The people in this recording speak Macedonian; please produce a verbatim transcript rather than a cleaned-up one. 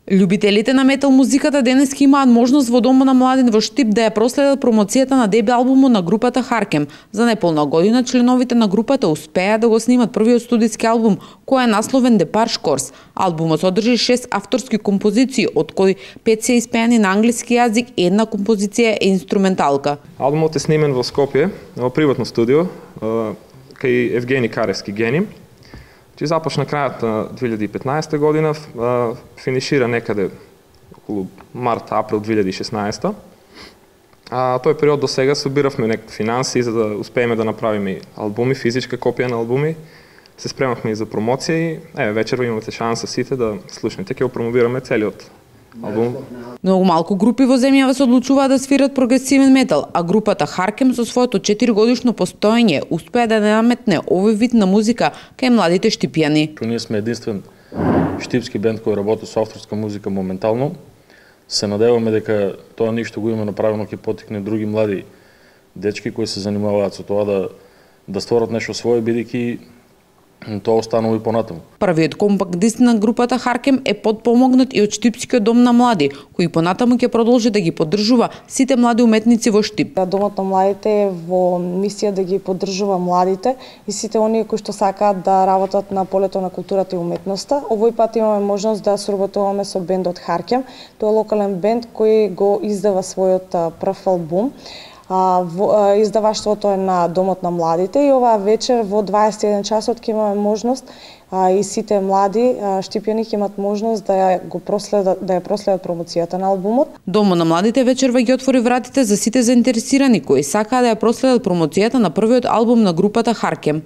Љубителите на метал музиката денеска имаат можност во Домот на младите во Штип да ја проследат промоцијата на дебют албумот на групата Харкем. За неполна година членовите на групата успеа да го снимат првиот студиски албум, кој е насловен Депарш Корс. Албумот содржи шест авторски композиции, од кои пет се испеани на англиски јазик и една композиција е инструменталка. Албумот е снимен во Скопје, во приватно студио, кај Евгени Каревски Гени. Че започна крајот на две илјади и петнаесета година, финишира некаде околу март-април две илјади и шеснаесета. А тој период до сега собиравме некакви финанси за да успееме да направиме албуми, физичка копија на албуми. Се спремавме и за промоција и еве вечерва имате шанса сите да слушнете, ќе го промовираме целиот албум. Многу малку групи во земјава се одлучуваат да свират прогресивен метал, а групата Харкем со своето четиригодишно постоење успеа да наметне овој вид на музика кај младите штипјани. Ние сме единствен штипски бенд кој работи со авторска музика моментално. Се надеваме дека тоа ништо го има направено ќе поттикне други млади дечки кои се занимаваат со тоа да да створат нешто свое, бидејќи тоа останува и понатаму. Првиот компакт диск на групата Харкем е подпомогнат и од Штипскиот дом на млади, кој понатаму ќе продолжи да ги поддржува сите млади уметници во Штип. Домот на младите е во мисија да ги поддржува младите и сите оние кои што сакаат да работат на полето на културата и уметноста. Овој пат имаме можност да соработуваме со бендот Харкем. Тоа е локален бенд кој го издава својот прв албум. Издаваштвото е на Домот на младите и оваа вечер во дваесет и еден часот ќе имаме можност а, и сите млади штипјани ќе имат можност да ја го проследат да ја проследат промоцијата на албумот. Домот на младите вечерва ги отвори вратите за сите заинтересирани кои сакаат да ја проследат промоцијата на првиот албум на групата Харкем.